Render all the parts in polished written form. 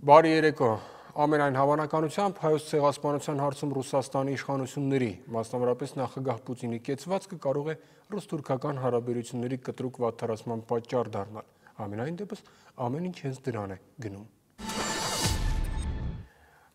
Բարի երեկո, ամենայն հավանականությամբ հայոց ցեղասպանության հարցում Ռուսաստանի իշխանությունների, մասնավորապես նախագահ Պուտինի կեցվածքը կարող է ռուս-թուրքական հարաբերությունների կտրուկ վատթարացման պատճառ դառնալ, ամենայն դեպս ամեն ինչ հենց դրան է գնում։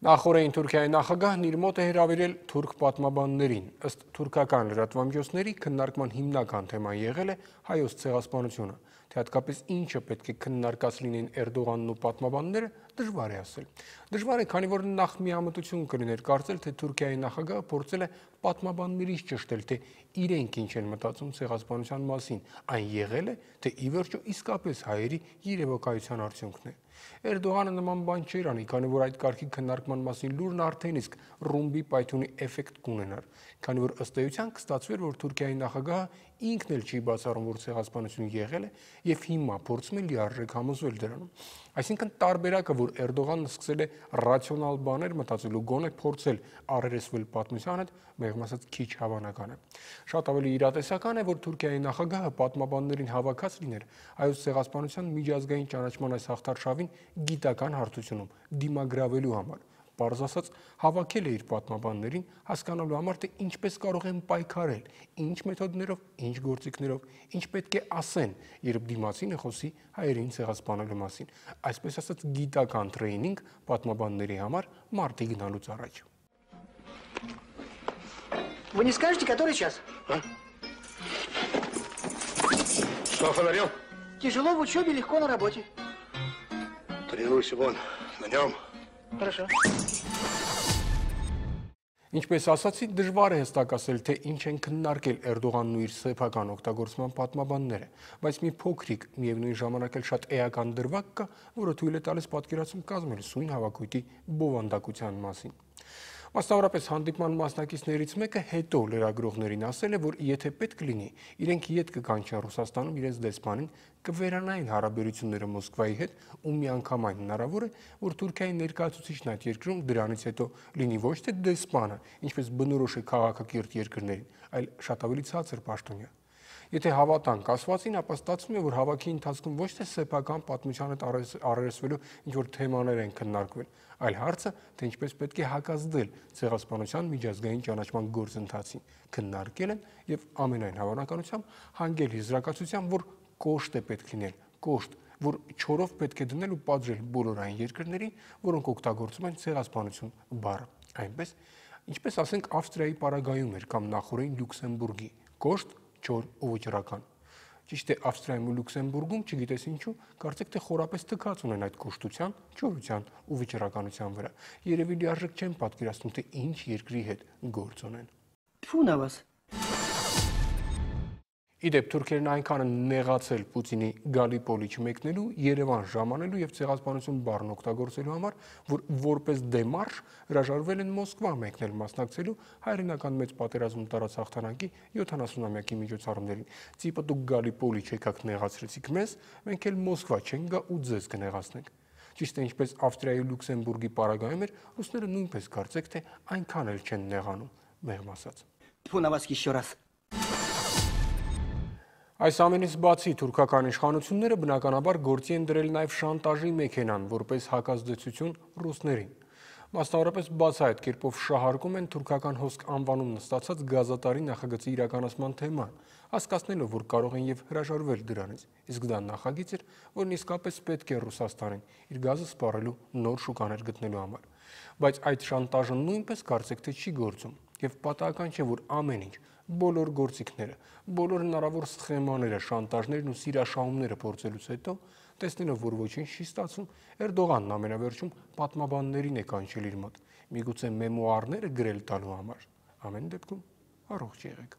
Նախորդին Թուրքիայի նախագահն իր մոտ է հրավիրել թուրք պատմաբաններին, ըստ թուրքական լրատվամիջոցների քննարկման հիմնական թեման եղել է հայոց ցեղասպանությունը, թե հատկապես ինչը պետք է քննարկած լինեն Էրդողանն ու պատմաբանները, դժվար է ասել։ Դժվար է, քանի որ նախ միամտություն կլիներ կարծել, թե Թուրքիայի նախագահը փորձել է պատմաբաններից ճշտել, թե իրենք ինչ են մտածում ցեղասպանության մասին, այն եղել է, թե ի վերջո իսկապես հայերի երևակայության արդյունքն է։ Էրդողանը նման բան չէր անի, քանի որ այդ կարգի քննարկման մասին լուրն արդեն իսկ ռումբի պայթյունի էֆեկտ կունենար, քանի որ ըստ էության կստացվեր, որ Թուրքիայի նախագահը ինքն էլ չի բացառում, որ ցեղասպանություն եղել է եւ հիմա փորձում է լիարժեք համոզվել դրանում։ Այսինքն տարբերակը, որ Էրդողանն սկսել է ռացիոնալ բաներ մտածել ու գոնե փորձել առերեսվել պատմության հետ, մեղմ ասած քիչ հավանական է։ Շատ ավելի իրատեսական է, որ Թուրքիայի նախագահը պատմաբաններին հավաքած լիներ հայոց ցեղասպանության միջազգային ճանաչման այս հաղթարշավին գիտական հարթությունում դիմագրավելու համար։ Պարզ ասած, հավաքել է իր պատմաբաններին հասկանալու համար, թե ինչպես կարող են պայքարել, ինչ մեթոդներով, ինչ գործիքներով, ինչ պետք է ասեն, երբ դիմացինը խոսի հայերին ցեղասպանելու մասին։ Այսպես ասած, գիտական տրեյնինգ պատմաբանների համար մարտի գնալուց առաջ։ Вы не скажете, который час? А? Что, фонарем? Тяжело в учебе, легко на работе. Тренируйся вон, на нем. Хорошо. Ինչպես ասացի, դժվար է հստակ ասել, թե ինչ են քննարկել Էրդողանն ու իր սեփական օգտագործման պատմաբանները, բայց մի փոքրիկ, միևնույն ժամանակ էլ շատ էական դրվագ կա, որը թույլ է տալիս պատկերացում կազմել սույն հավաքույթի բովանդակության մասին։ Մասնավորապես հանդիպման մասնակիցներից մեկը հետո լրագրողներին ասել է, որ եթե պետք լինի, իրենք ետ կկանչեն Ռուսաստանում իրենց դեսպանին, կվերանային հարաբերությունները Մոսկվայի հետ ու միանգամայն հնարավոր է, որ Թուրքիայի ներկայացուցիչն այդ երկրում դրանից հետո լինի ոչ թե դեսպանը, ինչպես բնորոշ է քաղաքակիրթ երկրներին, այլ շատ ավելի ցածր պաշտոնյա։ Եթե հավատանք ասվածին, ապա ստացվում է, որ հավաքի ընթացքում ոչ թե սեփական պատմության հետ առերեսվելու ինչ-որ թեմաներ են քննարկվել, այլ հարցը, թե ինչպես պետք է հակազդել ցեղասպանության միջազգային ճանաչման գործընթացին, քննարկել են եւ ամենայն հավանականությամբ հանգել եզրակացության, որ կոշտ է պետք լինել, կոշտ, որ չորով պետք է դնել ու պատժել բոլոր այն երկրներին, որոնք օգտագործում են ցեղասպանություն բառը։ Այնպես, ինչպես ասենք Ավստրիայի պարագայում էր կամ նախորդին Լյուքսեմբուրգի, կոշտ, չոր ու վճռական։ Ճիշտ է, Ավստրիայում ու Լյուքսեմբուրգում, չգիտես ինչու, կարծեք թե խորապես թքած ունեն այդ կոշտության, չորության ու վճռականության վրա։ Երևի լիարժեք չեն պատկերացնում, թե ինչ երկրի հետ գործ ունեն։ Тьфу на вас. Իդեպ թուրքերն այնքան են նեղացել Պուտինի Գալիպոլի չմեկնելու, Երևան ժամանելու եւ ցեղասպանություն բառն օգտագործելու համար, որ որպես դեմարշ հրաժարվել են Մոսկվա մեկնել մասնակցելու հայրենական մեծ պատերազմում տարած հաղթանակի 70-ամյակի միջոցառումներին։ Ծիպը դուք Գալիպոլի չեկաք նեղացրեցիք մեզ, մենք էլ Մոսկվա չենք գա ու ձեզ կնեղացնենք։ Ճիշտ է, ինչպես Ավստրիայի ու Լյուքսեմբուրգի պարագայում էր, ռուսները նույնպես կարծեք թե այնքան էլ չեն նեղանում, մեղմ ասած։ Тьфу на вас еще раз. Այս ամենից բացի թուրքական իշխանությունները բնականաբար գործի են դրել նաև շանտաժի մեքենան, որպես հակազդեցություն ռուսներին։ Մասնավորապես բացահայտ կերպով շահարկում են թուրքական հոսք անվանումն ստացած գազատարի նախագծի իրականացման թեման, հասկացնելով, որ կարող են եւ հրաժարվել դրանից։ Իսկ դա նախագիծ էր, որն իսկապես պետք է Ռուսաստանին իր գազը սպառելու նոր շուկաներ գտնելու համար։ Բայց այդ շանտաժը նույնպես կարծեք թե չի գործում, եւ պատահական չէ, որ ամեն ինչ, բոլոր գործիքները, բոլոր հնարավոր սխեմաները, շանտաժներն ու սիրաշահումները փորձելուց հետո, տեսնելով, որ ոչինչ չի ստացվում, Էրդողանն ամենավերջում պատմաբաններին է կանչել իր մոտ, միգուցե մեմուարները գրել տալու համար։ Ամեն դեպքում առողջ եղեք։